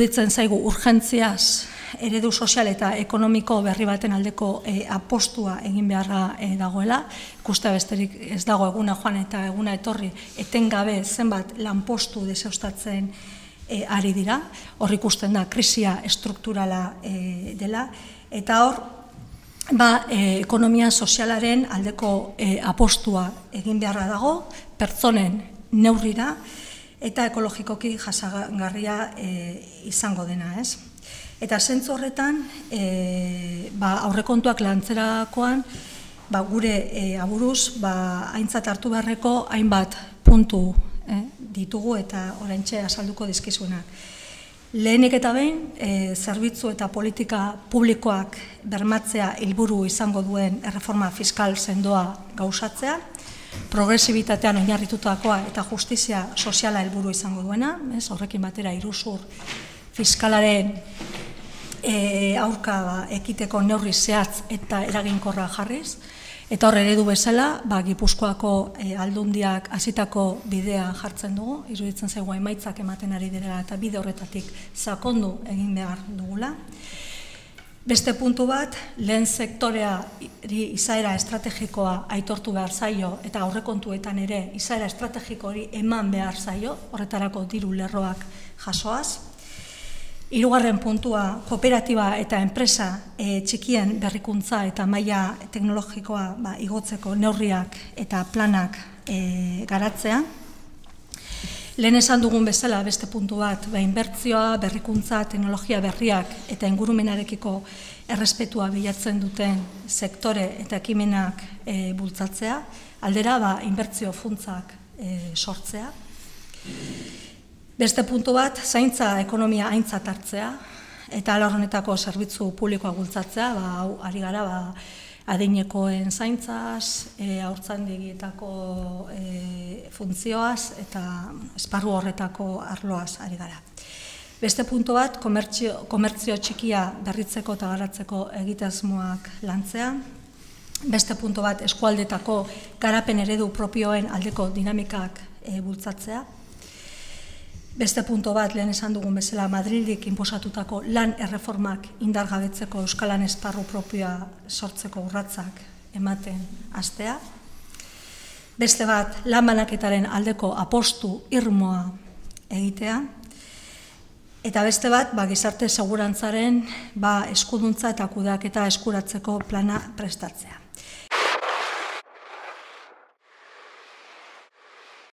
iruditzen zaigu urgentziaz eredu sozial eta ekonomiko berri baten aldeko apostua egin beharra dagoela. Ikustea besterik ez dago eguna joan eta eguna etorri etengabe zenbat lanpostu deuseztatzen ari dira. Hor ikusten da krisia estrukturala dela eta hor ekonomia sozialaren aldeko apostua egin beharra dago, pertsonen neurrira eta ekologikoki jasangarria izango dena, ez? Eta zentzu horretan, aurrekontuak lantzerakoan, gure aburuz, aintzat hartu beharreko hainbat puntu ditugu eta oraintxe azalduko dizkizuenak. Lehenik eta behin, zerbitzu eta politika publikoak bermatzea helburu izango duen erreforma fiskal sendoa gauzatzea, progresibitatean oinarritutakoa eta justizia soziala helburu izango duena, horrekin batera iruzur fiskalaren aurka ekiteko neurri zehatz eta eraginkorra jarriz, eta hor eredu bezala, Gipuzkoako aldundiak hasitako bidea jartzen dugu, iruditzen zaigu emaitzak ematen ari direla eta bide horretatik sakondu egin behar dugula. Beste puntu bat, lehen sektoreari izaera estrategikoa aitortu behar zaio eta aurrekontuetan ere izaera estrategiko hori eman behar zaio, horretarako diru lerroak jasoaz. Hirugarren puntua, kooperatiba eta enpresa txikien berrikuntza eta maila teknologikoa igotzeko neurriak eta planak garatzea. Lehen esan dugun bezala beste puntu bat, inbertsioa, berrikuntza, teknologia berriak eta ingurumenarekiko errespetua bilatzen duten sektore eta ekimenak bultzatzea, aldera inbertsio funtzak sortzea. Beste puntu bat, zaintza ekonomia aintzat hartzea, eta ala honetako zerbitzu publikoa bultzatzea, hau ari gara adinekoen zaintzaz, haurtzaindegietako funtzioaz eta esparru horretako arloaz ari gara. Beste puntu bat, komertzio txikia berritzeko eta garatzeko egitasmoak lantzea. Beste puntu bat, eskualdetako garapen eredu propioen aldeko dinamikak bultzatzea. Beste puntu bat, lehen esan dugun bezala, Madrildik inposatutako lan erreformak indargabetzeko euskalan esparru propioa sortzeko urratsak ematen hastea. Beste bat, lan banaketaren aldeko apostu irmoa egitea. Eta beste bat, gizarte segurantzaren eskuduntza eta kudeaketa eskuratzeko plana prestatzea.